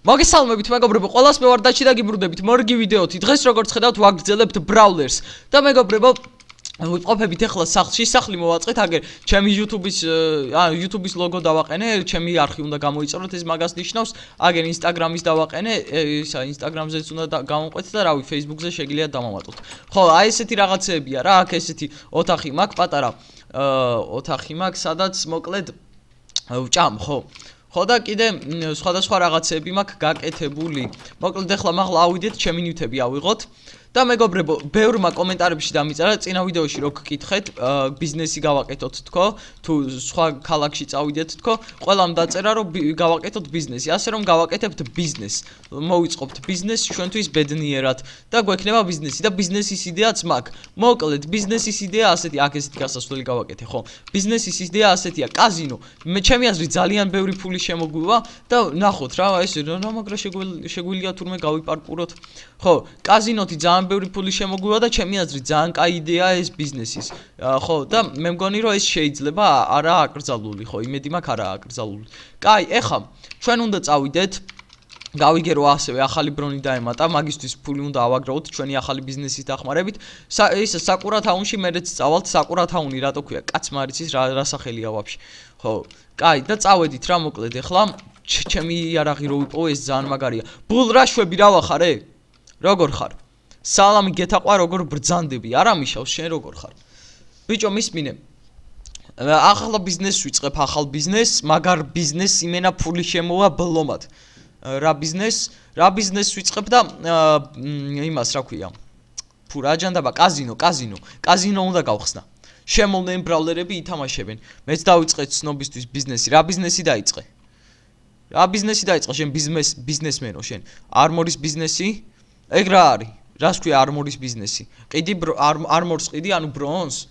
მოგესალმებით მეგობრებო, ყველას მე ვარ დაჩი და გიბრუნდებით მორგი ვიდეოთი. დღეს როგორც ხედავთ, ვაგრძელებთ ბრაულერს. და მეგობრებო, ვიყოფებით ახლა სახლში, სახლი მოვაწყეთ, აგერ ჩემი YouTube-ის ლოგო დავაყენე, ჩემი არხი უნდა გამოიწოროთ, ეს მაგას ნიშნავს, აგერ Instagram-ის დავაყენე, ისა Instagram-ზეც უნდა გამოვყვეთ და რავი, Facebook-ზე შეგიძლიათ დამამატოთ. ხო, აი ესეთი რაღაცეებია რა, აქ ესეთი ოთახი მაქვს, პატარა ოთახი მაქვს, სადაც მოკლედ ვჭამ, ხო. ხო და კიდე სხვადასხვა რაღაცეები მაქვს გაკეთებული. მოკლედ ახლა მაღლა ავიდეთ, ჩემი ნივთები ავიღოთ. და მეგობრებო, ბევრმა კომენტარებში დამიწერა წინა ვიდეოში რო გკითხეთ, ბიზნესი გავაკეთოთ თქო, თუ სხვა ქალაქში წავიდეთ თქო, ყველამ დაწერა რომ გავაკეთოთ ბიზნესი, ასე რომ გავაკეთებთ ბიზნესს. მოვიწყობთ ბიზნესს ჩვენთვის ბედნიერად და გვექნება ბიზნესი და ბიზნესის იდეაც მაქვს. მოკლედ, ბიზნესის იდეა ასეთი, აქ ესეთი გასასვლელი გავაკეთე, ხო? ბიზნესის იდეა ასეთია, კაზინო. ჩემი აზრით ძალიან ბევრი ფული შემოგვივა და ნახოთ რა, ეს რა მაგრა შეგვიძლია თურმე გავიპარკუროთ. ხო, კაზინოთი ძალიან ბევრი ფული შემოგვივა და ჩემი აზრით ძალიან კაი იდეაა ეს ბიზნესის. ხო, და მე მგონი რომ ეს შეიძლება არაა აკრძალული, ხო, იმედი მაქვს არაა აკრძალული. კაი, ეხლა ჩვენ უნდა წავიდეთ. გავიგერო ასევე ახალი ბრონი დაემატა, მაგისთვის ფული უნდა ავაგროვოთ ჩვენი ახალი ბიზნესის დახმარებით. ის საკურათაუნში მერეც წავალთ, საკურათაუნი რატო ქვია? კაცმა არ იცის რა სახელია ვაფშე. ხო, კაი, და წავედით რა მოკლედ ეხლა ჩემი იარაღი რო ვიპოვე, ეს ძალიან მაგარია. ბულ რაშვები რა ვახარე? როგორ ხარ? სალამი გეთაყვა, როგორ ბრძანდები? არა მიშავს, შენ როგორ ხარ? ბიჭო, მისმინე. ახლა ბიზნესს ვიწყებ, ახალ ბიზნესს, მაგარ ბიზნესს იმენა ფული შემოვა ბლომად. რა ბიზნესს ვიწყებ და იმას რა ქვია? ფუ რა ჯანდაბა, კაზინო უნდა გავხსნა. შემოვდნენ ბრაულერები ითამაშებენ. მეც დავიწყე ცნობისთვის ბიზნესი. რა ბიზნესი დაიწყე? შენ ბიზნესმენო შენ. არმორის ბიზნესი? ეგ რა არის? რას ქვია არმორის ბიზნესი? ყიდი არმორს ყიდი, ანუ ბრონს?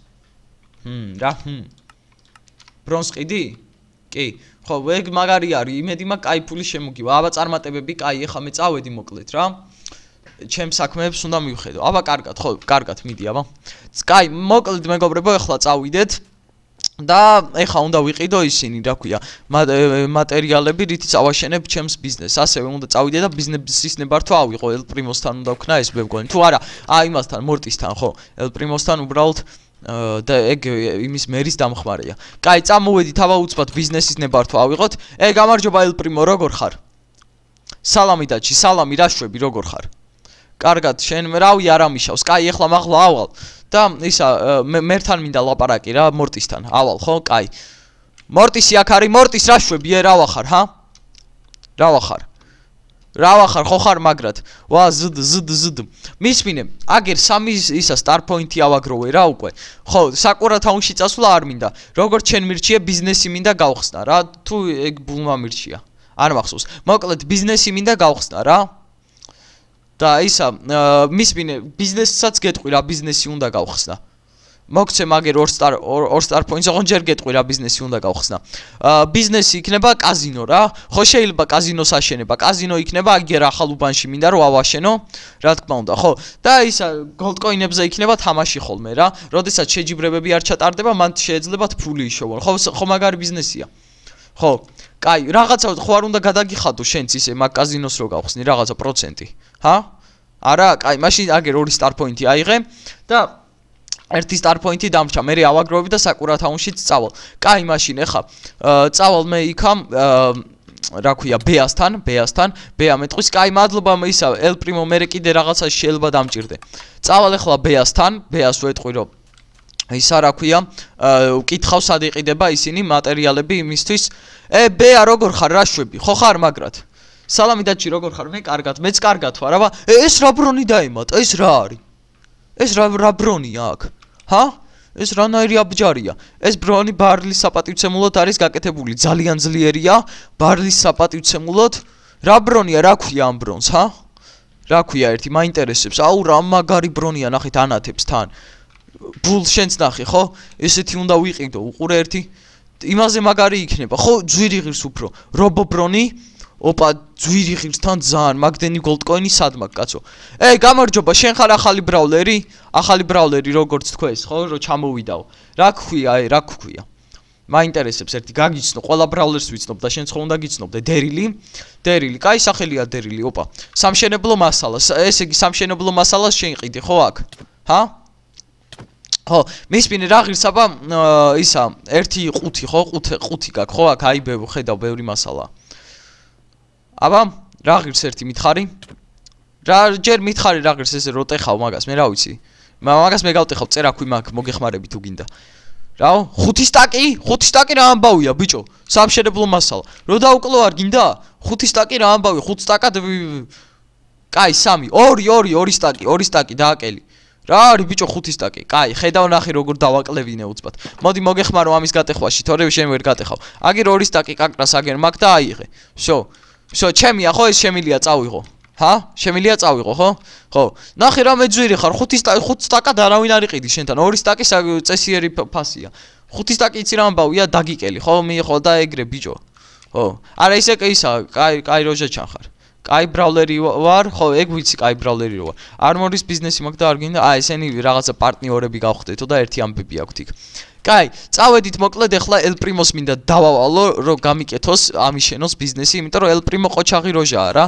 ბრონს ყიდი? კი. ხო, ეგ მაგარი არის, იმედი მაქვს კაი ფული შემოგივა. აბა წარმატებები, კაი, ეხლა მე წავედი მოკლედ რა. ჩემ საქმეებს უნდა მივხედო. აბა კარგად, ხო, კარგად, მიდი, აბა. კაი, მოკლედ მეგობრებო, ეხლა წავიდეთ. და ეხლა უნდა ვიყიდო ისინი, რა ქვია, მატერიალები, რითიც ავაშენებ ჩემს ბიზნესს. ასევე უნდა წავიდე და ბიზნესის ნებართვა ავიღო, ელ პრიმოსთან უნდა ვქნა ეს მე მგონი. თუ არა, იმასთან, მორტისთან, ხო, ელ პრიმოსთან უბრალოდ და ეგ იმის მერის დამხმარეა. კაი, წამოვედით, აბა უცბად ბიზნესის ნებართვა ავიღოთ. გამარჯობა ელ პრიმო, როგორ ხარ? სალამი დაჩი, სალამი, რაშვები, როგორ ხარ? კარგად, შენ რავი არ ამიშავს. კაი, ეხლა მაღლა ავალ. და ისა მერთან მინდა ლაპარაკი რა მორტისთან. ავალ, ხო? კაი. მორტისი აქ არის, მორტის რაშვები, რა ვახარ, ჰა? რა ვახარ, ხო ხარ მაგრად? ვა, ზდ. მისმინე, აგერ სამი ისა სტარ პოინტი ავაგროვე რა უკვე. ხო, საკურათაუნში წასვლა არ მინდა. როგორც შენ მირჩიე, ბიზნესი მინდა გავხსნა რა. თუ ეგ ბულმა მირჩია. არ მახსოვს. მოკლედ ბიზნესი მინდა გავხსნა რა. და ისა მისმინე, ბიზნესსაც გეტყვი რა ბიზნესი უნდა გავხსნა. მოგცე მაგერ 2 სტარ პოინტს, ოღონდ ჯერ გეტყვი რა ბიზნესი უნდა გავხსნა. ბიზნესი იქნება კაზინო რა. ხო, შეიძლება კაზინოს აშენება. კაზინო იქნება აგერ ახალ უბანში მინდა რომ ავაშენო, რა თქმა უნდა, ხო. და ისა გოლდკოინებზე იქნება თამაში ხოლმე რა. როდესაც შეჯიბრებები არ ჩატარდება, მან შეეძლებათ ფული იშოვონ. ხო, მაგარი ბიზნესია. ხო, კაი, რაღაცა ხო არ უნდა გადაგიხადო შენც ისე მაგ კაზინოს რო გავხსნი, რაღაცა პროცენტი. ჰა? არა, კაი, მაშინ აგერ 2 სტარ პოინტი აიღე და 1 სტარ პოინტი დამრჩა, მე ავაგროვები და საკურათაუნშიც წავალ. კაი, მაშინ ეხა წავალ მე იქამ რა ქვია, ბეასთან, ბეა მეტყვის. კაი, მადლობა ისა ელ პრიმო, მე კიდე რაღაცა შეიძლება დამჭირდე. წავალ ეხლა ბეასთან, ბეას ვეტყვი რომ ისა რა ქვია, ვკითხავ სად იყიდება ისინი მატერიალები იმისთვის. ბეა, როგორ ხარ, რაშვები? ხო ხარ მაგრად? სალამი დაჩი, როგორ ხარ? მე კარგად, მეც კარგად ვარ, აბა ეს რა ბრონი დაემატა? ეს რა არის? ეს რა ბრონია აქ? ჰა? ეს რანაირი აბჯარია? ეს ბრონი ბარლის საპატივცემულოდ არის გაკეთებული, ძალიან ძლიერია, ბარლის საპატივცემულოდ. რა ბრონია, რა ქვია ამ ბრონს, ჰა? რა ქვია ერთი, მაინტერესებს. აუ, რა მაგარი ბრონია, ნახეთ ანათებს თან. ბულ შენც ნახე, ხო? ესეთი უნდა ვიყიდო, უყურე ერთი. იმაზე მაგარი იქნება, ხო? ძვირი ღირს უფრო. რობო ბრონი ოპა, ძვირი ღირს თან ძალიან, მაგდენი გოლდკოინი სად მაგ კაცო? გამარჯობა, შენ ხარ ახალი ბრაულერი? ახალი ბრაულერი როგორც თქვეს, ხო? რომ ჩამოვიდაო. რა გქვია? მაინტერესებს ერთი გაგიცნო ყველა ბრაულერს ვიცნობ და შენ ხო უნდა გიცნობდე დერილი კაი სახელია დერილი ოპა სამშენებლო მასალა ესე იგი სამშენებლო მასალას შენ ყიდი ხო აქ ჰა ხო მისმინე რა ღირს აბა ისა 1.5 ხო 5 გაქვს ხო აქ აი ხედავ ბევრი მასალა აბა რა ღირს ერთი მითხარი რა ჯერ მითხარი რა ღირს ესე რო ტეხავ მაგას მე რა ვიცი მაგას მე გავტეხავ წერა ქვი მაგ მოგეხმარები თუ გინდა რაო 5 სტაკი რა ამბავია ბიჭო სამშენებლო მასალა რო დაუკლო არ გინდა 5 სტაკი რა ამბავია 5 სტაკად კაი 3 2 სტაკი დააკელი რა არის ბიჭო 5 სტაკი კაი ხედავ ნახე როგორ დავაკლევინე უცბად მოდი მოგეხმარო ამის გატეხვაში თორე შენ ვერ გატეხავ აგერ 2 სტაკი კაკრას აგერ მაგ და აიღე შო ჩემია ხო ეს შემილია წავიღო ჰა შემილია წავიღო ხო ნახე რა მეძვირი ხარ 5 სტაკად არავინ არ იყიდი შენთან 2 სტაკი წესიერი ფასია 5 სტაკი იცი რა ამბავია დაგიკელი ხო მიიღო და ეგრე ბიჭო ხო არა ისე ისა კაი როჟაჩან ხარ კაი ბრაულერი ვარ ხო ეგ ვიცი კაი ბრაულერი ვარ არმორის ბიზნესი მაგ და არ გინდა ესენი რაღაცა პარტნიორები გავხდეთო და ერთი ამბები აქვთ იქ კაი წავედით მოკლედ ეხლა ელ პრიმოს მინდა დავავალო რომ გამიკეთოს ამიშენოს ბიზნესი იმიტომ რომ ელ პრიმო ყოჩაღი როჟაა რა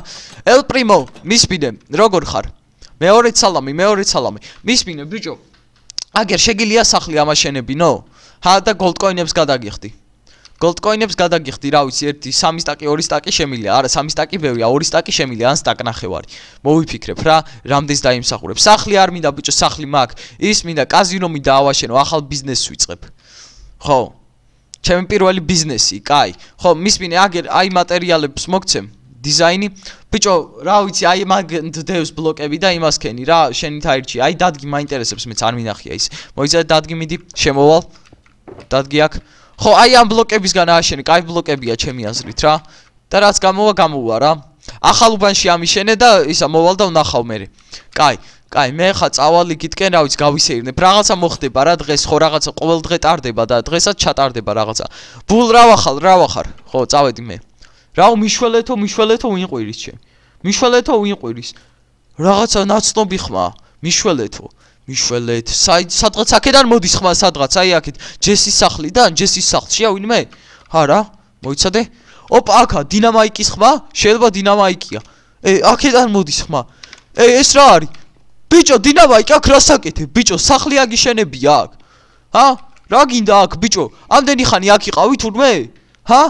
ელ პრიმო მისმინე როგორ ხარ მეორე სალამი მისმინე ბიჭო აგერ შეგილია სახლი ამაშენებინო ჰა და გოლდკოინებს გადაგიხდი რა ვიცი 3 სტაკი 2 სტაკი შემილია არა 3 სტაკი ბევრია 2 სტაკი შემილია ან სტაკ ნახევარი მოვიფიქრებ რა რამდენს დაიმსახურებ სახლი არ მინდა ბიჭო სახლი მაქვს ის მინდა კაზინო მინდა ავაშენო ახალ ბიზნესს ვიწყებ ხო ჩემი პირველი ბიზნესი კაი ხო მისმინე აგერ აი მატერიალებს მოგცემ დიზაინი ბიჭო რა ვიცი აი მაგ დევს ბლოკები და იმას ქენი რა შენით აირჩი აი დადგი მაინტერესებს მეც არ მინახია ის მოიძა დადგი მიდი შემოვალ დადგი აქ ხო აი ამ ბლოკებისგან ააშენე კაი ბლოკებია ჩემი აზრით რა და რაც გამოვა რა ახალ უბანში ამიშენე და ისა მოვალ და ვნახავ მე კაი მე ხა წავალი გიტკენ რა ვიცი გავისეირნებ რაღაცა მოხდება რა დღეს ხო რაღაცა ყოველ დღე ტარდება და დღესაც ჩატარდება რაღაცა ბულ რა ვახარ ხო წავედი მე რაო მიშველეთო ვინყვირის ჩემ მიშველეთო ვინყვირის რაღაცა ნაცნობი ხმა მიშველეთო სადღაც აქედან მოდის ხმა სადღაც აი აქეთ ჯესის სახლიდან ჯესის სახლშია ვინმე არა მოიცადე ოპა აქა დინამაიკის ხმა შეიძლება დინამაიკია აქედან მოდის ხმა ეს რა არის ბიჭო დინამაიკი აქ რას აკეთებ ბიჭო სახლი აგიშენებია აქ ჰა რა გინდა აქ ბიჭო ამდენი ხანი აქ იყავი თურმე ჰა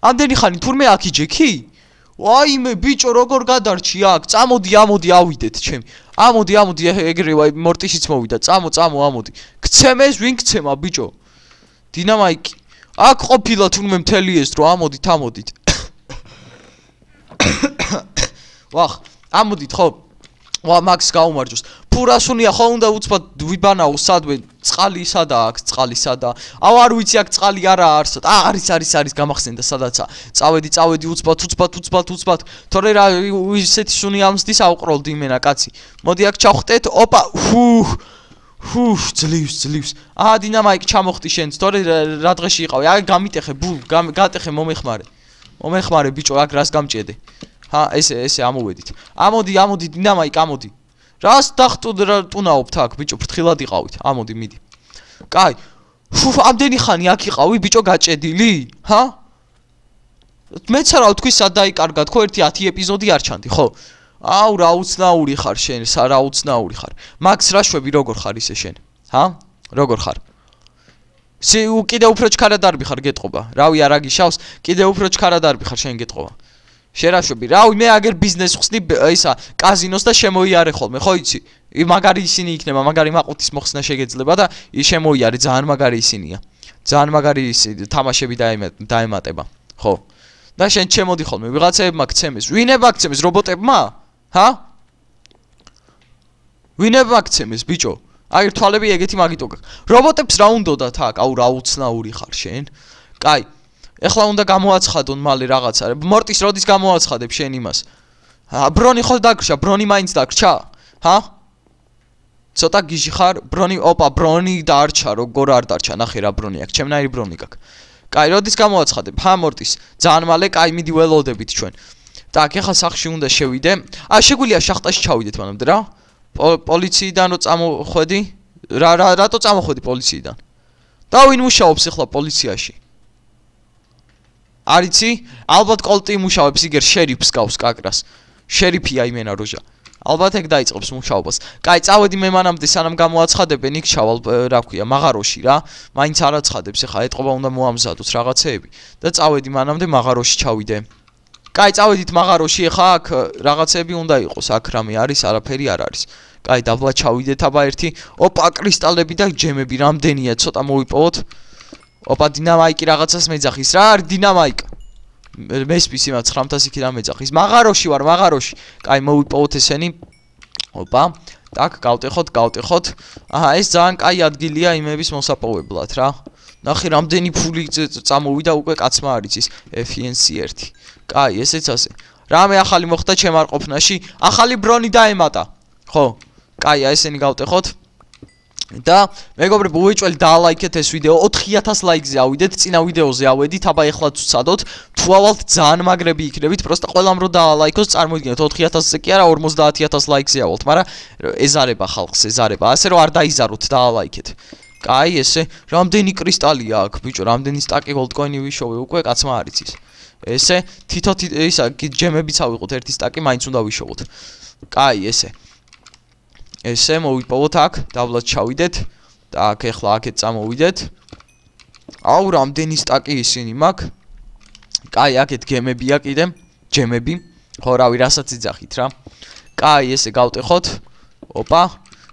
ამდენი ხანი თურმე აქ იჯექი ვაიმე ბიჭო როგორ გადარჩი აქ წამოდი ავიდეთ ჩემი ამოდი ეგრე მორტიშიც მოვიდა წამო ამოდი გცემეს ვინ გცემა ბიჭო დინამაიკი აქ ყოფილა თურმე მთელი ეს დრო ამოდით ვახ ამოდით ხო ვა მაქს გაუმარჯოს ფურასუნია ხო უნდა უცბად ვიბანაო სადვე წყალი სადაა აქ წყალი სადაა აუ არ ვიცი აქ წყალი არაა არსად არის გამახსენდა სადაცა წავედი უცბად თორე რა ისეთი სუნი ამსდის ავყროლდი იმენა კაცი მოდი აქ ჩავხტეთ ოპა ძლივს დინამაიკი ჩამოხტი შენც თორე რა დღეში იყავი აი გამიტეხე ბულ გატეხე მომეხმარე ბიჭო აქ რას გამჭედე ჰა ესე ამოვედით ამოდი დინამაიკ ამოდი რას დახტუნაობთ აქ ბიჭო ფრთხილად იყავით ამოდი მიდი კაი ამდენი ხანი აქ იყავი ბიჭო გაჭედილი ჰა მეც რა თქვი სად დაიკარგა თქო ერთი 10 ეპიზოდი არ ჩანდი ხო აუ რა უცნაური ხარ შენ რა უცნაური ხარ მაქს რა შვები როგორ ხარ ისე შენ ჰა როგორ ხარ კიდე უფრო ჩქარადარბი ხარ გეტყობა რავი არა გიშავს კიდე უფრო ჩქარადარბი ხარ შენ გეტყობა შერაშვები რავი მე აგერ ბიზნეს ხსნი ისა კაზინოს და შემოიარე ხოლმე ხო იცი მაგარი ისინი იქნება მაგარი მაყუთის მოხსნა შეგეძლება და შემოიარე ძალიან მაგარი ისინია ძალიან მაგარი თამაშები დაემატება ხო და შენ შემოდი ხოლმე ვიღაცებმა გცემეს ვინებმა გცემეს რობოტებმა ჰა ვინებმა გცემეს ბიჭო აი თვალები ეგეთი მაგიტო რობოტებს რა უნდათ აქ აუ რა უცნაური ხარ შენ კაი ეხლა უნდა გამოაცხადონ მალე რაღაცა მორტის როდის გამოაცხადებ შენ იმას ბრონი ხო დაგრჩა ბრონი მაინც დაგრჩა ჰა ცოტა გიჟი ხარ ბრონი ოპა ბრონი დარჩა როგორ არ დარჩა ნახე რა ბრონი აქვს ჩემნაირი ბრონი გაქვს კაი როდის გამოაცხადებ ჰა მორტის ძალიან მალე კაი მიდი ველოდებით ჩვენ так ეხლა სახში უნდა შევიდე შეგვიძლია შახტაში ჩავიდეთ მანამდე რა პოლიციიდან რო წამოხვედი რატო წამოხვედი პოლიციიდან და ვინ მუშაობს ახლა პოლიციაში? არიცი? ალბათ კოლტი მუშაობს იგერ შერიფს გავს კაკრას. შერიფია იმენა როჟა. ალბათ ეგ დაიწყებს მუშაობას. კაი, წავედი მე მანამდე სანამ გამოაცხადებენ იქ ჩავალ რა ქვია, მაღაროში რა. მაინც არ აცხადებს ახლა ეტყობა უნდა მოამზადოს რაღაცეები და წავედი მანამდე მაღაროში ჩავიდე. კაი, წავედით მაღაროში ახლა აქ რაღაცეები უნდა იყოს, აქ რამე არის, არაფერი არ არის. კაი, დაბლა ჩავიდეთ აბა ერთი. ოპა, კრისტალები და ჯემები რამდენია, ცოტა მოვიპოვოთ. ოპა, დინამაიკი რაღაცას მეძახის რა არის დინამაიკა? მესპის იმათ 900 იქიდან მეძახის. მაღაროში ვარ, მაღაროში. კაი, მოვიპოვოთ ესენი. ოპა, так, გავტეხოთ. აჰა, ეს ძალიან კაი ადგილია იმების მოსაპოვებლად რა. ნახე, რამდენი ფული წამოვიდა უკვე კაცმა არის ის FNC1. კაი, ესეც ასე. რამე ახალი მოხდა ჩემ არ ყოფნაში? ახალი ბრონი დაემატა. ხო? კაი, ესენი გავტეხოთ. და მეგობრებო, უეჭველი დაალაიქეთ ეს ვიდეო, 4000 ლაიქზე ავიდეთ, წინა ვიდეოზე ავედით, აბა ეხლა ვცადოთ, თუ ავალთ ძალიან მაგრები იქნებით, პროსტა ყველამ რო დაალაიქოს, წარმოიდგინეთ 4000-ზე კი არა 50000 ლაიქზე ავალთ, მაგრამ ეზარება ხალხს, ეზარება, ასე რომ არ დაიზაროთ, დაალაიქეთ. კაი, ესე, რამდენი კრისტალია აქ, ბიჭო, რამდენი სტაკი გოლდკოინი ვიშოვე, უკვე კაცმა არის ის. ესე, თითო ისა ჯემებიც ავიღოთ, ერთი სტაკი მაინც უნდა ვიშოვოთ. კაი, ესე. ესე მოვიპოვოთ აქ, დაბლად ჩავიდეთ და აქ ეხლა აქეთ წამოვიდეთ. აუ, რამდენი სტაკი ისინი მაქვს. კაი, აქეთ გემებია კიდე, ჯემები. ხო, რავი, რასაც იძახით რა. კაი, ესე გავტეხოთ. ოპა,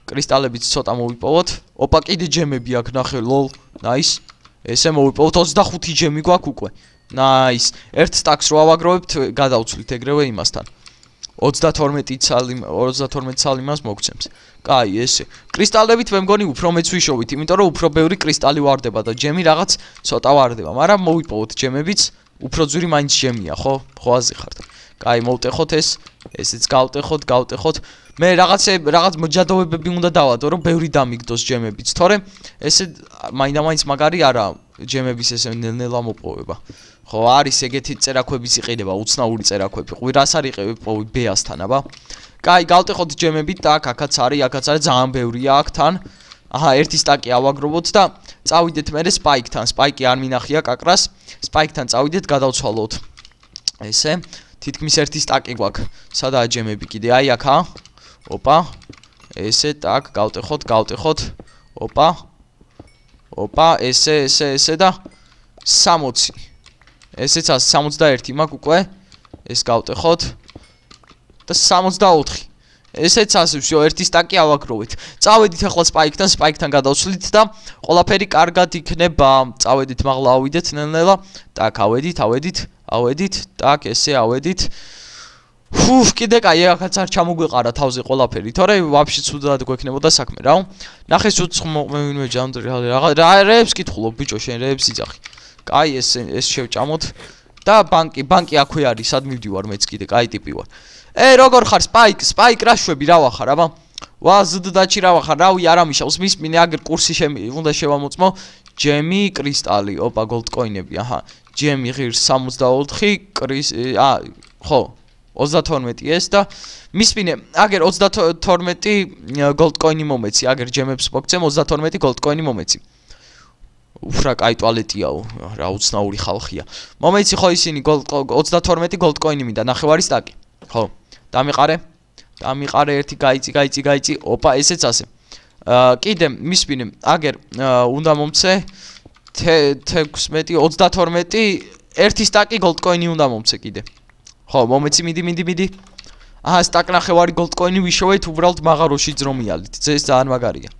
კრისტალებიც ცოტა მოვიპოვოთ. ოპა, კიდე ჯემები აქ, ნახე, ლოლ, ნაის. ესე მოვიპოვოთ 25 ჯემი გვაქვს უკვე. ნაის. ერთ სტაკს რო ავაგროვებთ, გადავცვლით ეგრევე იმასთან. 32 ცალი მას მოგცემს. კაი, ესე. კრისტალებით მე მგონი უფრო მეც ვიშოვით, იმიტომ რომ უფრო ბევრი კრისტალი ვარდება და ჯემი რაღაც ცოტა ვარდება, მაგრამ მოვიპოვოთ ჯემებიც, უფრო ძვირი მაინც ჯემია, ხო? ხო აზიხართ. კაი, მოვტეხოთ ეს, ესეც გავტეხოთ. მე რაღაც მოჯადოვებები უნდა დავადო, რომ ბევრი დამიგდოს ჯემებიც, თორემ ესე მაინდა-მაინც მაგარი არა ჯემების ესე ნელ-ნელა მოპოვება. ხო, არის ეგეთი წერაქვების იყიდება, უცნაური წერაქვები. ყვირას არ იყევი ბეასთან, აბა. კაი, გავტეხოთ ჯემებით და აქაც არის ძალიან ბევრია აქ თან. აჰა, ერთი სტაკი ავაგროვოთ და წავიდეთ მერე სპაიკთან. სპაიკი არ მინახია კაკრას. სპაიკთან წავიდეთ, გადავცვალოთ. ესე, თითქმის ერთი სტაკი გვაქვს. სადაა ჯემები კიდე? აი აქა. ოპა. ესე, так, გავტეხოთ. ოპა, ესე და 60. ესეც 61 მაქვს უკვე. ეს გავტეხოთ და 64. ესეც ასე ვсё, ერთი სტაკი ავაგროვეთ. წავედით ახლა სპაიკთან გადავცვლით და ყველაფერი კარგად იქნება. წავედით, მაღლა ავიდეთ ნელ-ნელა. так, ავედით, так, ესე ავედით. ფუფ, კიდე კაი, ახაც არ ჩამოგვეყარა თავზე ყველაფერი, თორე ვაფშე ცუდად გვექნებოდა საქმე, რა. ნახე ვინმე ჯამდრი რა რეებს კითხულობ, ბიჭო, შენ რეებს იძახი. კაი, ეს შევჭამოთ და ბანკი აქვე არის, სად მივდივარ მეც კიდე, კაი ტიპი ვარ. როგორ ხარ სპაიკ რა შვები, რა ვახარ, აბა? ვა ზდდაჩი რა ვახარ, რავი, არ ამიშავს, მისმინე აგერ კურსი უნდა შევამოწმო. ჯემი, კრისტალი, ოპა, გოლდკოინები, აჰა. ჯემი ღირს 64, ხო. 32 ეს და მისმინე, აგერ 32 გოლდკოინი მომეცი, აგერ ჯემებს მოგცემ 32 გოლდკოინი მომეცი. უფრა კაი ტუალეტიაო, რა უცნაური ხალხია. მომეცი ხო ისინი 32 გოლდკოინი მინდა, ნახევარი სტაკი. ხო, დამიყარე ერთი გაიწი. ოპა, ესეც ასე. კიდე მისმინე, აგერ უნდა მომცე 32 ერთი სტაკი გოლდკოინი უნდა მომცე კიდე. ხო, მომეცი, მიდი. აჰა, სტაკ ნახევარი გოლდკოინი ვიშოვეთ უბრალოდ მაღაროში ძრომიალით. ეს ძალიან მაგარია.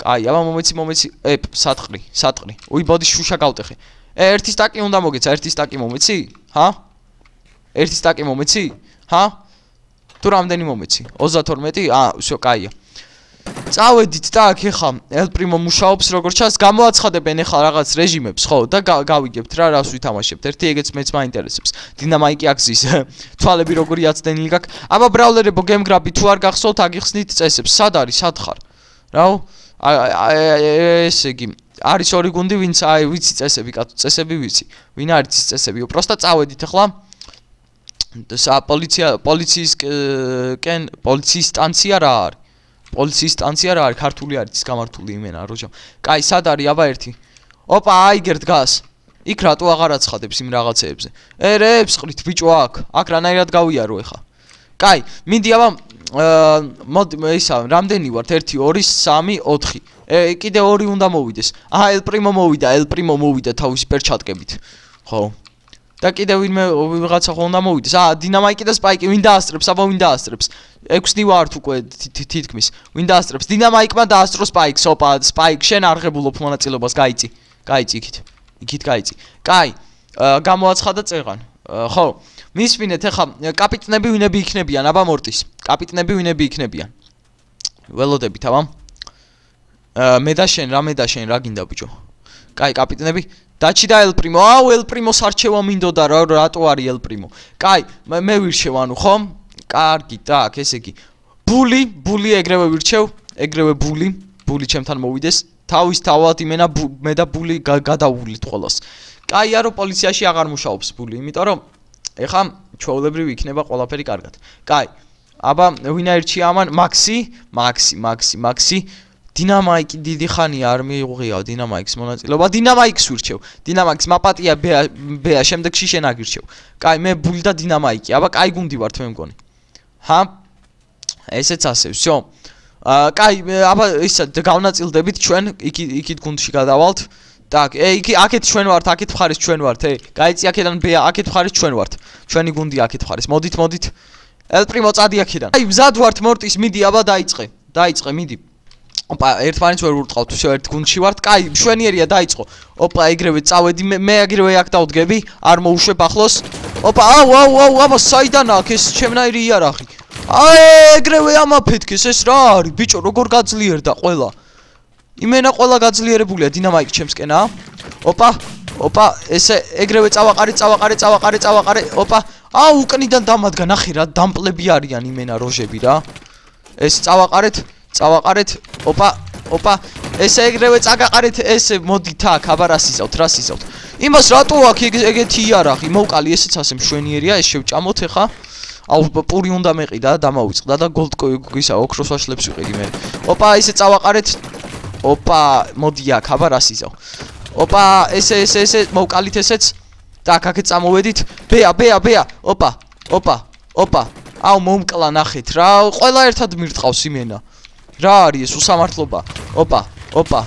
კაი, აბა მომეცი, სატყრი. უი, ბოდი შუშა გავტეხე. ერთი სტაკი უნდა მოგეცა, ერთი სტაკი მომეცი? ჰა? ერთი სტაკი მომეცი? ჰა? თუ რამდენი მომეცი? 32? ვсё, კაია. წავედით და აქ ეხა ელპრიმო მუშაობს როგორც ჩანს, გამოაცხადებენ ეხა რაღაც რეჟიმებს, ხო, და გავიგებთ რა, რას ვითამაშებთ. ერთი ეგეც მეც მაინტერესებს. დინამაიკი აქ ზის. თვალები როგორი აცდენილი გაქვს. აბა ბრაულერებო, გემგრაბი თუ არ გახსოვთ, აგიხსნით წესებს. სად არის, სად ხარ? რაო? ესე იგი, არის ორი გუნდი, ვინც ვიცი წესები, კაცო, წესები ვიცი. ვინ არის ის წესები? პროსტა წავედით ახლა. პოლიციის სტანცია რა არის? პოლიციის სტანცია რა არის? ქართული არის ის გამართული იმენა როჯამ. კაი, სად არის აბა ერთი? ოპა, აიგერ დგას. იქ რატო აღარ აცხადებს იმ რაღაცეებზე? ერებს ყრით ბიჭო აქ რანაირად გავიარო ეხა. კაი, მინდი აბა მოდი ისა რამდენი ვართ 1 2 3 4 კიდე 2 უნდა მოვიდეს ელ პრიმო მოვიდა თავისი პერჩატკებით ხო და კიდე ვინმე ვიღაცა ხო უნდა მოვიდეს დინამაიკი და სპაიკი ვინ დაასწრებს 6-ი ვართ უკვე თითქმის ვინ დაასწრებს დინამაიკმა დაასწრო სპაიკს ოპა სპაიკ შენ არ ღებულობ მონაწილეობას გაიწი იქით გაიწი კაი გამოაცხადა წეღან ხო მისვინეთ ეხა კაპიტნები ვინები იქნებიან აბა მორტის კაპიტნები ვინები იქნებიან ველოდებით აბა მე და შენ რა გინდა ბიჭო კაი კაპიტნები დაჩი და ელპრიმო ელპრიმოს არჩევა მინდოდა რატო არის ელპრიმო კაი მე ვირჩევ ანუ ხო კარგი так ესე იგი ბული ეგრევე ვირჩევ ეგრევე ბული ჩემთან მოვიდეს თავის თავად მე და ბული გადავულით ყველას კაი არო პოლიციაში აღარ მუშაობს ბული იმიტომ რომ ეხა ჩვეულებრივ იქნება ყველაფერი კარგად. კაი. აბა ვინ აირჩია ამან? მაქსი. დინამაიკი დიდი ხანია არ მიიღია დინამაიქს მონაწილეობა. დინამაიქს ვირჩევ. დინამაიქს მაპატია ბეა შემდეგში შენ აგირჩევ. კაი, მე ბული და დინამაიკი. აბა კაი გუნდი ვართ მე მგონი. ჰა? ესეც ასე, всё. კაი, აბა ისა გავნაწილდებით ჩვენ იქით გუნდში გადავალთ. Так, აქეთ ჩვენ ვართ, აქეთ მხარეს ჩვენ ვართ, გაიწი აქედან ბეა, აქეთ მხარეს ჩვენ ვართ. ჩვენი გუნდი აქეთ მხარეს. მოდით. ელ პრიმო წადი აქედან. აი, მზად ვართ მორტის, მიდი, აბა დაიწყე, მიდი. ოპა, ერთმანეთს ვერ ვურტყავთ, всё, ერთ გუნდში ვართ. კაი, მშვენიერია, დაიწყო. ოპა, ეგრევე წავედი, მე აგრევე აქ დავდგები, არ მოუშვებ ახლოს. ოპა, აუ, აბა, საიდან აქ ეს ჩემნაირი იარაღი. ეგრევე ამაფეთქეს, ეს რა არის? ბიჭო, როგორ გაძლიერდა ყველა? იმენა ყველა გაძლიერებულია დინამაიკი ჩემსკენა ოპა ესე ეგრევე წავაყარე ოპა უკნიდან დამადგა ნახე რა დამპლები არიან იმენა როჟები რა ეს წავაყარეთ ოპა ესე ეგრევე წაგაყარეთ ესე მოდით აქ აბა რა სიზავთ იმას რატო აქ ეგეთი იარაღი მოვყალი ესეც ასე მშვენიერია ეს შევჭამოთ ეხა პური უნდა მეყიდა დამავიწყდა და გოლდკოისა ოქროს ვაშლებს ვიყიდი მე ოპა ესე წავაყარეთ ოპა მოდი აქ აბა რა სიზავ ოპა ესე მოვკალით ესეც так აქეთ წამოვედით ბეა ოპა აუ მომკლა ნახეთ რა ყველა ერთად მირტყავს იმენა რა არის ეს უსამართლობა ოპა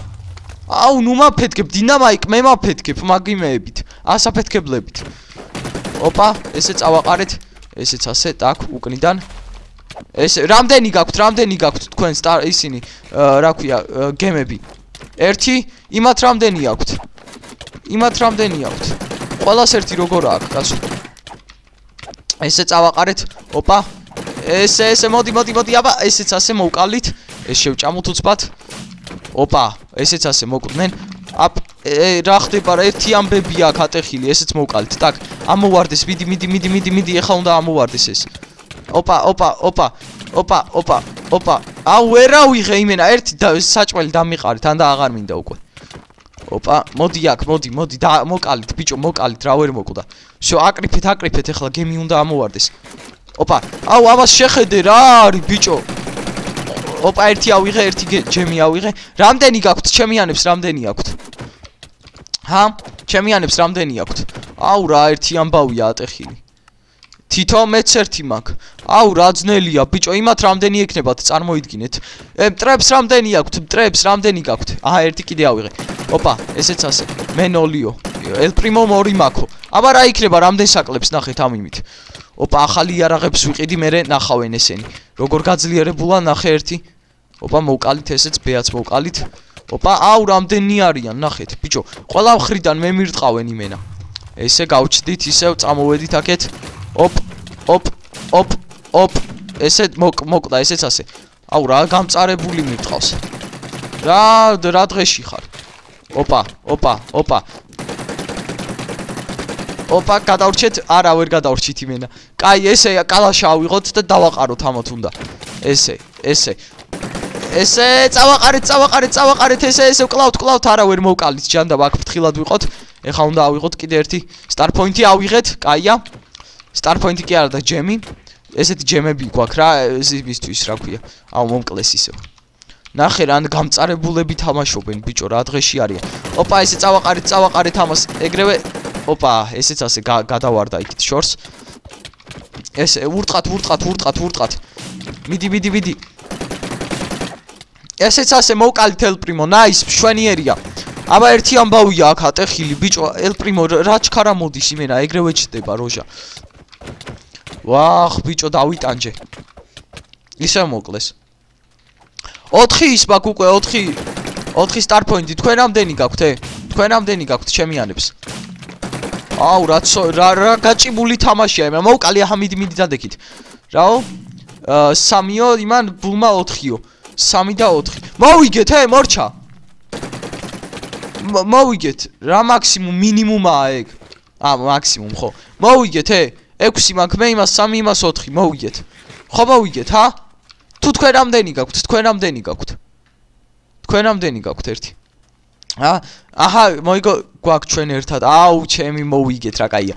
აუ ნუ მაფეთქებ დინამაიკ მე მაფეთქებ მაგიმეებით ასაფეთქებლებით ოპა ესე წავაყარეთ ესეც ასე так უკნიდან ეს რამდენი გაქვთ თქვენ ისინი რა ქვია გემები 1 იმათ რამდენი აქვთ ყველას ერთი როგორ აქვს კაცო ესე წავაყარეთ ოპა ესე მოდი აბა ესეც ასე მოვკალით ეს შევჭამოთ უცბად ოპა ესეც ასე მოკვდნენ რა ხდება რა ერთი ამბები აქვს ატეხილი ესეც მოვკალით так ამოვარდეს მიდი ეხა უნდა ამოვარდეს ეს ოპა აუ ვერა ვიღე იმენა ერთი საჭმელი დამიყარით ან და აღარ მინდა უკვე ოპა მოდი აქ მოდი მოკალით ბიჭო მოკალით რა ვერ მოკვდა всё აკრიფეთ ეხლა გემი უნდა ამოვარდეს ოპა აუ ამას შეხედე რა არის ბიჭო ოპა ერთი ავიღე ერთი ჯემი ავიღე რამდენი გაქვთ ჩემიანებს რამდენი აქვთ ჰა ჩემიანებს რამდენი აქვთ აუ რა ერთი ამბავია ატეხილი თითო მეც ერთი მაქვს. აუ რა ძნელია, ბიჭო, იმათ რამდენი ეკნებათ, წარმოიდგინეთ. მტრებს რამდენი გაქვთ? ერთი კიდე ავიღე. ოპა, ესეც ასე. მე 0-ო. ელ პრიმო 2 მაქვს. აბა რა იქნება, რამდენ საკლებს ნახეთ ამიმით. ოპა, ახალი იარაღებს ვიყიდი, მე ნახავენ ესენი. როგორ გაძლიერებულა ნახე ერთი. ოპა, მოვკალით ესეც, ბეაც მოვკალით. ოპა, აუ რამდენი არიან, ნახეთ, ბიჭო. ყველა მხრიდან მე მირტყავენ იმენა. ესე გავჩდით, ისევ წამოვედით აქეთ. ოპ ესე მოკვდა ესეც ასე აუ რა გამწარებული მირტყავს რა დღეში ხარ ოპა გადავრჩეთ არა ვერ გადავრჩით იმენა კაი ესე კალაშა ავიღოთ და დავაყაროთ ამათ უნდა ესე წავაყარეთ ესე ვკლავთ არა ვერ მოვკალით ჯანდაბ აქ ფრთხილად ვიყოთ ეხა უნდა ავიღოთ კიდე ერთი სტარ პოინტი ავიღეთ კაია სტარ პოინტი კი არა და ჯემი ესეთი ჯემები გვაქვს რა ისისთვის რა ქვია აუ მომკლეს ისევ ნახე რა გამწარებულები თამაშობენ ბიჭო რა დღეში არიან ოპა ესე წავაყარეთ ამას ეგრევე ოპა ესეც ასე გადავარდა იქით შორს ეს ვურტყათ მიდი ესეც ასე მოვკალით ელპრიმო ნაის მშვენიერია აბა ერთი ამბავია აქ ატეხილი ბიჭო ელპრიმო რა ჩქარა მოდის იმენა ეგრევე ჩდება როჟა ვახ ბიჭო დავიტანჯე ისე მოკლეს 4 ის მაქვს უკვე 4 star point-ი თქვენ ამდენი გაქვთ ჩემიანებს აუ რა გაჭიმული თამაშია მე მოვკალი აჰა მიდი დადექით რაო 3-ო იმან ბულმა 4-ო 3 და 4 მოვიგეთ მორჩა მოვიგეთ რა მაქსიმუმ მინიმუმაა ეგ მაქსიმუმ ხო მოვიგეთ 6 მაქვს მე იმას 3 იმას 4 მოვიგეთ ხო მოვიგეთ ჰა თუ თქვენ ამდენი გაქვთ ერთი აჰა მოიგო გვაქვს ჩვენ ერთად აუ ჩემი მოვიგეთ რა კაია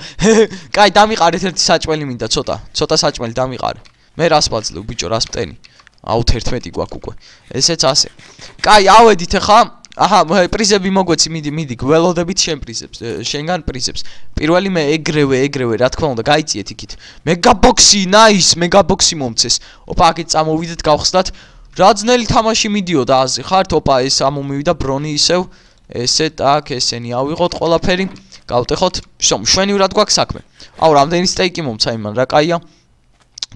კაი დამიყარეთ ერთი საჭმელი მინდა ცოტა საჭმელი დამიყარე მე რას ვაძლევ ბიჭო რას მტენი აუ 11 გვაქვს უკვე ესეც ასე კაი ავედით ახლა აჰა პრიზები მოგვეცი მიდი გველოდებით შენ პრიზებს შენგან პრიზებს პირველი მე ეგრევე რა თქმა უნდა გაიწიეთ იქით მეგაბოქსი ნაის მეგაბოქსი მომცეს ოპა აქეთ წამოვიდეთ გავხსნათ რა ძნელი თამაში მიდიოდა აზე ხართ ოპა ეს ამომივიდა ბრონი ისევ ესე так ესენი ავიღოთ ყველაფერი გავტეხოთ მშვენივრად გვაქვს საქმე აუ რამდენი სტეიკი მომცა იმან რა კაია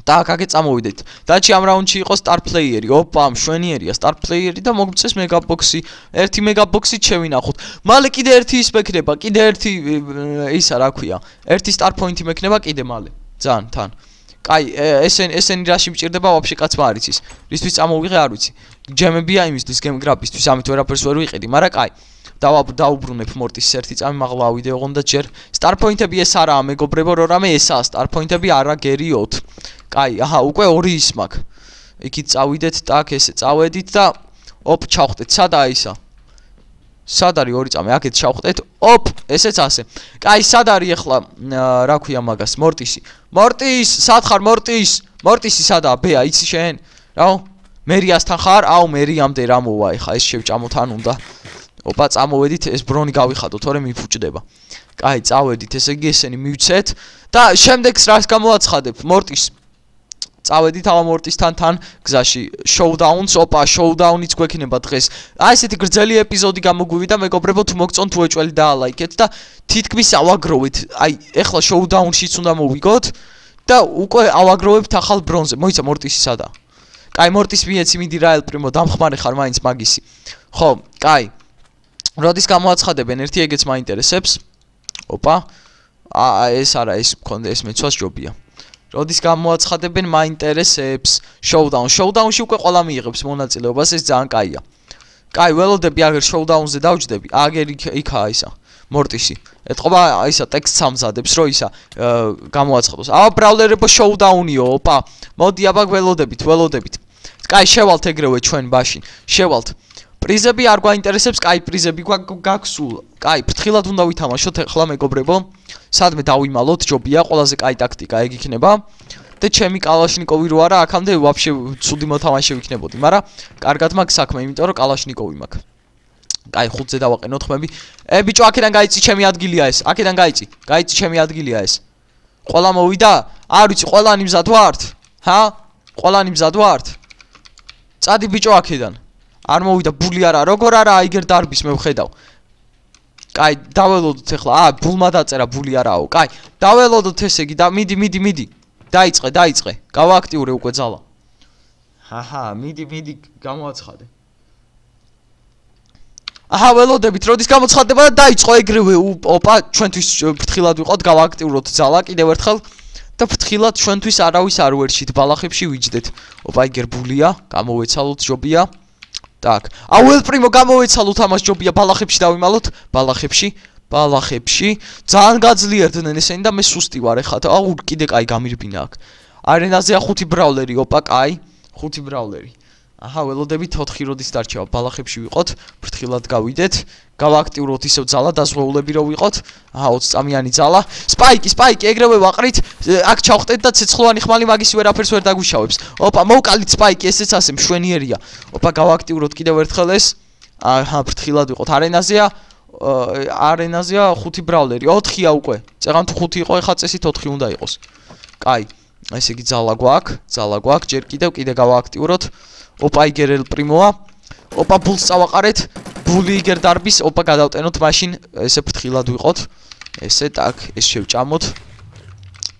так აქეთ წამოვიდეთ დაჩი ამ რაუნდში იყო star player-ი ოპა მშვენიერია star player-ი და მოგწეს მეგაბოქსი ერთი მეგაბოქსი შევინახოთ მალე კიდე ერთი ის მექნება კიდე ერთი ისა რა ქვია ერთი star point-ი მექნება კიდე მალე ძალიან თან კაი ესენი რაში მჭირდება ვაფშე კაცმა არ იცის რისთვის წამოვიღე არ ვიცი ჯემებია იმისთვის გემგრაბისთვის ამით ვერაფერს ვერ ვიყიდი მაგრამ კაი დაუბრუნებ მორტის ერთი წამი მაღლა ავიდე ოღონდ და ჯერ star point-ები ეს არაა მეგობრებო რამე ესაა star point-ები არა გერიოთ კაი აჰა უკვე 2 ის მაქვს იქით წავიდეთ так ესე წავედით და ოპ ჩავხდეთ სადაა ისა სად არის 2 წამი აქეთ ჩავხდეთ ოპ ესეც ასე კაი სად არის ახლა რა ქვია მაგას მორტის სად ხარ მორტისი სადაა ბეა იცი შენ რაო მერიასთან ხარ აუ მერიამდე რა მოვა ახლა ეს შევჭამოთ ან უნდა ოპა წამოვედით ეს ბრონი გავიხადოთ თორემ მიფუჭდება კაი წავედით ესე იგი ესენი მივცეთ და შემდეგს რას გამოაცხადებ მორტის წავედით ამა მორტისთან თან გზაში შოუდაუნს ოპა შოუდაუნიც გვექნება დღეს აი ესეთი გრძელი ეპიზოდი გამოგვივიდა მეგობრებო თუ მოგწონთ უეჭველი დაალაიქეთ და თითქმის ავაგროვეთ აი ეხლა შოუდაუნშიც უნდა მოვიგოთ და უკვე ავაგროვებთ ახალ ბრონზე მოიცა მორტისი სადაა კაი მორტის მიეცი მიდი რა ელპრიმო დამხმარე ხარ მაინც მაგისი ხო კაი როდის გამოაცხადებენ ერთი ეგეც მაინტერესებს ოპა ეს არა ეს მქონდა ეს მეცვას ჯობია როდის გამოაცხადებენ მაინტერესებს შოუდაუნში უკვე ყველა მიიღებს მონაწილეობას ეს ძალიან კაია კაი ველოდები აგერ შოუდაუნზე დავჯდები აგერ იქაა ისა მორტისი ეთყობა ისა ტექსტს ამზადებს რომ ისა გამოაცხადოს აბა ბრაულერებო შოუდაუნიო ოპა მოდი აბა ველოდებით კაი შევალთ ეგრევე ჩვენ ბაში შევალთ პრიზები არ გვაინტერესებს კაი პრიზები გაქვს სულ კაი ფრთხილად უნდა ვითამაშოთ ახლა მეგობრებო სადმე დავიმალოთ ჯობია ყველაზე კაი ტაქტიკა ეგ იქნება და ჩემი კალაშნიკოვი რო არა აქამდე ვაფშე ცუდი მოთამაშე ვიქნებოდი მაგრამ კარგად მაქვს საქმე იმიტომ რომ კალაშნიკოვი მაქვს კაი 5-ზე დავაყენოთ ხმები ბიჭო აქედან გაიწი ჩემი ადგილია ეს აქედან გაიწი ჩემი ადგილია ეს ყველა მოვიდა არ ვიცი ყველანი მზად ვართ ჰა ყველანი მზად ვართ წადი ბიჭო აქედან არ მოვიდა ბული არა როგორ არა აიგერ დარბის მე ვხედავ კაი დაველოდოთ ახლა ბულმა დაწერა ბული არაო კაი დაველოდოთ ესე იგი და მიდი დაიწყე გავააქტიურე უკვე ძალა ჰაჰა მიდი გამოაცხადე აჰა ველოდებით როდის გამოცხადდება და დაიწყო ეგრევე ოპა ჩვენთვის ფრთხილად ვიყოთ გავააქტიუროთ ძალა კიდევ ერთხელ და ფრთხილად ჩვენთვის არავის არ ვერჩით ბალახებში ვიჯდეთ ოპა იგერ ბულია გამოვეცალოთ ჯობია так აუ ელპრიმო გამოვეცალოთ ამას ჯობია ბალახებში დავიმალოთ ბალახებში ძალიან გაძლიერდნენ ესენი და მე სუსტი ვარ ეხლა აუ კიდე კაი გამირბინა აქ არენაზეა 5 ბრაულერი ოპა კაი 5 ბრაულერი აჰა, ველოდებით 4 როდის დარჩება. ბალახებში ვიყოთ, ფრთხილად გავიდეთ. გავააქტიუროთ ისევ ძალა დაზღვეულები რო ვიყოთ. აჰა, 20 წამიანი ძალა. სპაიკი, ეგრევე ვაყრით. აქ ჩავხტეთ და ცეცხლოვანი ხმალი მაგის ვერაფერს ვერ დაგვიშავებს. ოპა, მოვკალით სპაიკი, ესეც ასე მშვენიერია. ოპა, გავააქტიუროთ კიდევ ერთხელ ეს. აჰა, ფრთხილად ვიყოთ. არენაზეა 5 ბრავლერი. 4-ია უკვე. წეგან თუ 5 იყო, ეხა წესით 4 უნდა იყოს. კაი. ესე იგი ძალა გვაქვს, ჯერ კიდევ გავააქტიუროთ. ოპა, იგერ ელ პრიმოა. ოპა, ბულს წავაყარეთ. ბული იგერ დარბის, ოპა, გადავტენოთ მაშინ, ესე ფრთხილად ვიყოთ. ესე, ტაკ, ეს შევჭამოთ.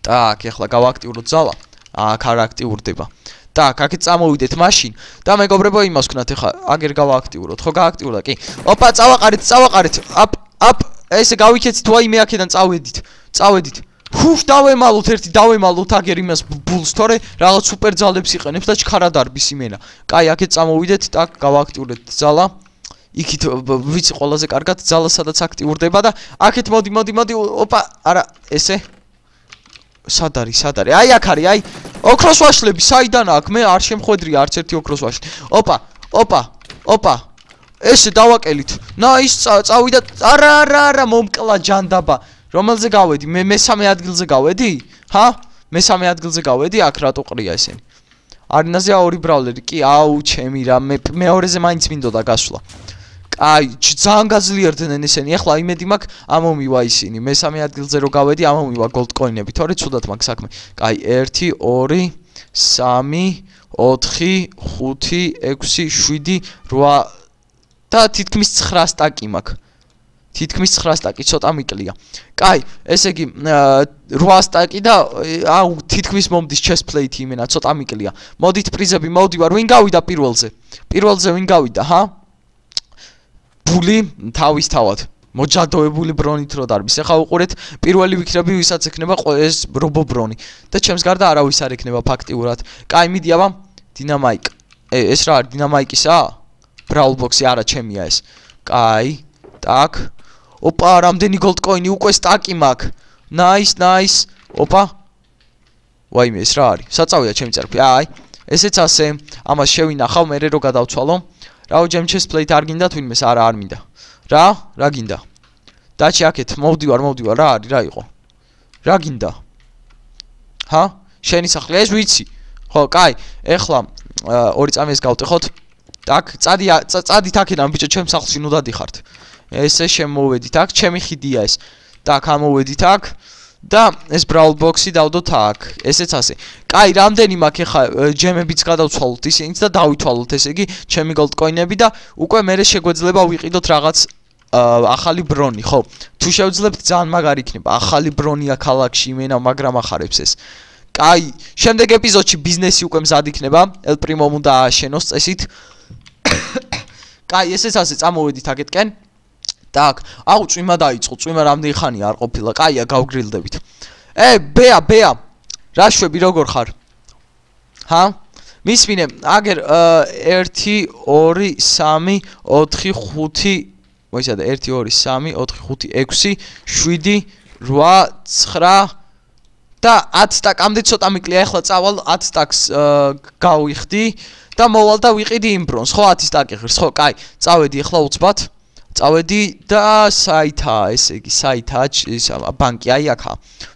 ტაკ, ეხლა გავააქტიუროთ ძალა. აქ არ აქტიურდება. ტაკ, აქეთ წამოვიდეთ მაშინ და მეგობრებო, იმას ვქნათ, ეხლა აგერ გავააქტიუროთ, ხო გააქტიურდა, კი. ოპა, წავაყარეთ. აპ, ესე გავიქეცით, ვაიმე აქედან წავედით. დავემალოთ აგერ იმას ბულს, თორე რაღაც სუპერ ძალებს იყენებს და ჩქარა დარბის იმენა. კაი, აქეთ წამოვიდეთ, ტაკ, გავააქტიურეთ ძალა. იქით ვიცი ყველაზე კარგად ძალა სადაც აქტიურდება და აქეთ მოდი, ოპა, არა, ესე სად არის? აი აქ არის, აი. ოქროს ვაშლები, საიდან აქ? მე არ შემხვედრია არც ერთი ოქროს ვაშლი. ოპა. ესე დავაკელით. ნაის, წავიდა. არა, მომკლა ჯანდაბა. რომელზე გავედი? მე მესამე ადგილზე გავედი? ჰა? მესამე ადგილზე გავედი? აქ რატო ყრია ესენი? არენაზეა 2 ბრავლერი. კი, აუ, ჩემი რა, მეორეზე მაინც მინდოდა გასვლა. კაი, ძალიან გაძლიერდნენ ესენი. ეხლა იმედი მაქვს ამომივა ისინი. მესამე ადგილზე რო გავედი, ამომივა გოლდკოინები. თორე ცუდად მაქვს საქმე. კაი, 1 2 3 4 5 6 7 8 და თითქმის 9 სტაკი მაქვს. თითქმის 9 სტაკი ცოტა მიკლია. კაი, ესე იგი 8 სტაკი და აუ თითქმის მომდის chest plate იმენა, ცოტა მიკლია. მოდით პრიზები მოვდივარ, ვინ გავიდა პირველზე? პირველზე ვინ გავიდა, ჰა? ბული თავისთავად. მოჯადოებული ბრონით რო დარბის. ეხლა უყურეთ, პირველი ვიქნები, ვისაც ექნება ეს რობო ბრონი. და ჩემს გარდა არავის არ ექნება ფაქტიურად. კაი, მიდი აბა, დინამაიკ. ეს რა არის, დინამაიკისაა? ბრაულ ბოქსი არა, ჩემია ეს. კაი, ტაკ. ოპა, რამდენი გოლდკოინი უკვე სტაკი მაქვს. ნაის. ოპა. ვაიმე, ეს რა არის? საწავია ჩემი წერფი. აი, ესეც ასე. ამას შევინახავ, მე რო გადავცვალო. რაო, ჯემ chest plate არ გინდა თვინმეს? არა, არ მინდა. რა გინდა? დაჩი აქეთ, მოვდივარ, რა არის, რა იყო? რა გინდა? ჰა? შენი სახლი ეს ვიცი. ხო, კაი, ეხლა 2 წამის გავტეხოთ. ტაკ, წადით აქედან ბიჭო, ჩემს სახლში ნუ დადიხართ. ესე შემოვედით აქ, ჩემი ხიდია ეს. ტაკ, ამოვედით აქ და ეს ბრაულ ბოქსი დავდოთ აქ. ესეც ასე. კაი, რამდენი მაქვს ეხა ჯემებიც გადავცვალოთ ისინიც და დავითვალოთ, ესე იგი, ჩემი გოლდკოინები და უკვე მერე შეგვეძლება ვიყიდოთ რაღაც ახალი ბრონი, ხო? თუ შევძლებთ, ძალიან მაგარი იქნება. ახალი ბრონია ქალაქში იმენა, მაგრამ ახარებს ეს. კაი, შემდეგ ეპიზოდში ბიზნესი უკვე მზად იქნება. ელ პრიმომ უნდა ააშენოს წესით. კაი, ესეც ასე, წამოვედით აქეთკენ. Так, აუ წვიმა დაიწყო, წვიმა რამდენი ხანია არ ყოფილა. კაია, გავგრილდებით. ბეა. რა შვები, როგორ ხარ? ჰა? მისმინე, აგერ 1 2 3 4 5 მოიცადე 1 2 3 4 5 6 7 8 9 და 10 სტაკამდე ცოტა მიკლია. ეხლა წავალ 10 სტაკს გავიხდი და მოვალ და ვიყიდი იმ ბრონს. ხო, 10 სტაკი ღირს, ხო, კაი. წავედი ეხლა უცბად. წავედი და საითაა, ესე იგი, საითაა ბანკი, აი აქა.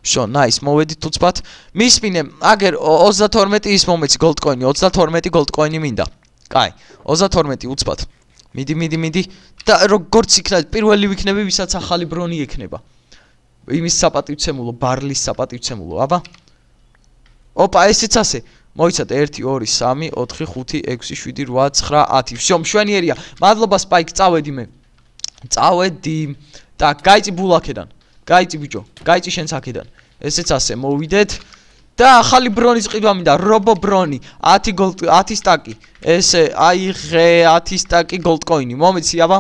შო, ნაის, მოვედით უცბად. მისმინე, აგერ 32 ის მომეცი გოლდკოინი, 32 გოლდკოინი მინდა. კაი, 32 უცბად. მიდი და როგორც იქნება, პირველი ვიქნები, ვისაც ახალი ბრონი ექნება. იმის საპატივცემულო, ბარლის საპატივცემულო, აბა. ოპა, ესეც ასე. მოიცადე 1 2 3 4 5 6 7 8 9 10. შო, მშვენიერია. მადლობა სპაიკ, წავედი მე. წავედი და გაიწი ბულაკედან. გაიწი ბიჭო, გაიწი შენს აქედან. ესეც ასე მოვიდეთ და ახალი ბრონის ყიდვა მინდა, რობო ბრონი, 10 სტაკი. ესე აიღე 10 სტაკი გოლდკოინი. მომეცი აბა.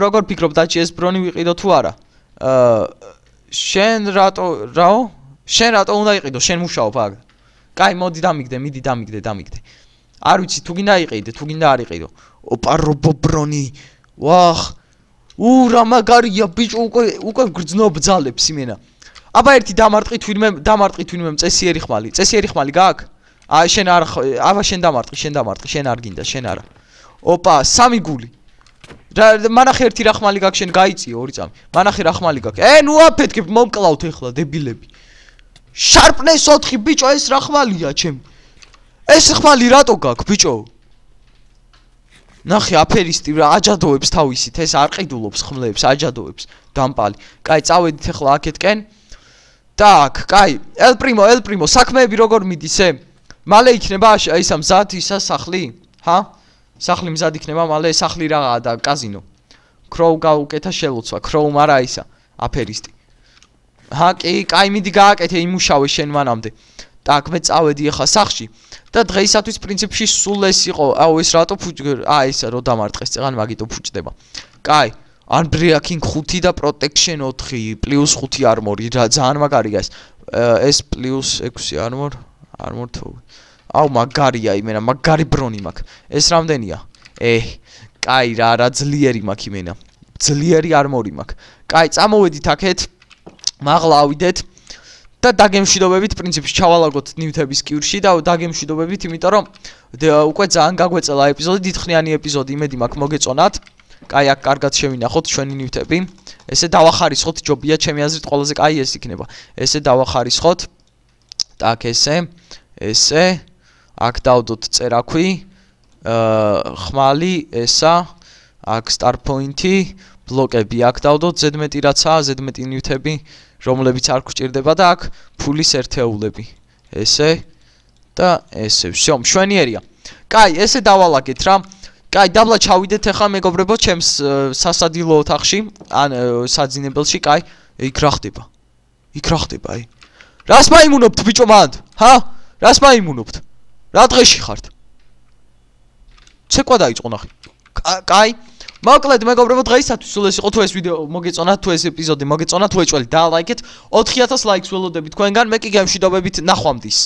როგორ ფიქრობ დაჩი ეს ბრონი ვიყიდო თუ არა? შენ რატო უნდა იყიდო? შენ მუშაობ აქ. კაი, მოდი დამიგდე. არ ვიცი, თუ გინდა იყიდე, თუ გინდა არ იყიდო. ოპა, რობო ბრონი. ვახ. რა მაგარია ბიჭო, უკვე გრძნობ ძალებს იმენა. აბა ერთი დამარტყი თვინმე წესიერი ხმალი გაქვს? აი შენ არ აბა შენ დამარტყი, შენ არ გინდა, შენ არა. ოპა, 3 გული. მანახე ერთი რა ხმალი გაქვს შენ გაიწიე 2 წამი. მანახე რა ხმალი გაქვს. ნუ აფეთქებ მომკლავთ ეხლა დებილები. შარპნეს 4 ბიჭო ეს რა ხმალია ჩემი. ეს ხმალი რატო გაქვს ბიჭო? ნახე აფერისტი რა აჯადოებს თავისით, ეს არ ყიდულობს ხმლებს, აჯადოებს. დამპალი. კაი, წავედით ეხლა აქეთკენ. Так, კაი, ელ პრიმო, საქმეები როგორ მიდის მალე იქნება ისა მზად ისა სახლი? ჰა? სახლი მზად იქნება მალე, სახლი რაღაცა და კაზინო. ქროუ გაუკეთა შელოცვა, ქროუ არა ისა, აფერისტი. ჰა, კი, კაი, მიდი გააკეთე იმუშავე შენ მანამდე. Так, მე წავედი ახლა სახლში და დღეისათვის პრინციპში სულ ეს იყო, აუ ეს რატო ისა რო დამარტყეს წეღან მაგიტო ფუჭდება. კაი, Unbreaking 5 და Protection 4 პლუს 5 armor-ი რა ძალიან მაგარია ეს პლუს 6 armor 2 აუ მაგარია იმენა მაგარი ბრონი მაქვს ეს რამდენია კაი რა ძლიერი მაქვს იმენა ძლიერი armor-ი მაქვს კაი წამოვედით აქეთ მაღლა ავიდეთ და დაგემშვიდობებით პრინციპში ჩავალაგოთ ნივთების კივრში და დაგემშვიდობებით იმიტომ რომ უკვე ძალიან გაგვეწელა ეპიზოდი დიდხნიანი ეპიზოდი იმედი მაქვს მოგეწონათ კაი აქ კარგად შევინახოთ ჩვენი ნივთები ესე დავახარისხოთ ჯობია ჩემი აზრით ყველაზე კაი ეს იქნება ესე დავახარისხოთ так ესე აქ დავდოთ წერაქვი ხმალი ესა აქ star point-ი ბლოკები აქ დავდოთ ზედმეტი რაცაა ზედმეტი ნივთები რომლებიც არ გვჭირდება და აქ ფულის ერთეულები ესე და ესე всё მშვენიერია კაი ესე დავალაგეთ რა კაი დაბლა ჩავიდეთ ახლა მეგობრებო ჩემს სასადილო ოთახში ან საძინებელში კაი იქ რა ხდება აი რას მაიმუნობთ ბიჭო მანდ ჰა რას მაიმუნობთ რა დღეში ხართ ცეკვა დაიწყო ნახე კაი მოკლედ მეგობრებო დღეისათვის სულ ეს იყო თუ ეს ვიდეო მოგეწონათ თუ ეს ეპიზოდი მოგეწონათ უეჭველი და ლაიქეთ 4000 ლაიქს ველოდები თქვენგან მე კი გემშვიდობებით ნახვამდის